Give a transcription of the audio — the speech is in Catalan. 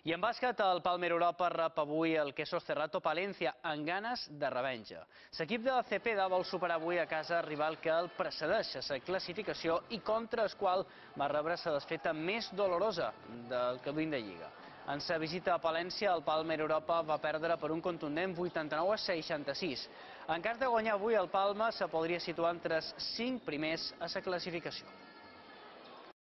I en bàsquet, el Palmer Europa rep avui el Quesos Cerrato Palencia amb ganes de revenja. L'equip de Cepeda vol superar avui a casa rival que el precedeix a la classificació i contra el qual va rebre la desfeta més dolorosa del que duim de Lliga. En sa visita a Palència, el Palmer Europa va perdre per un contundent 89-66. En cas de guanyar avui el Palma, se podria situar entre els 5 primers a la classificació.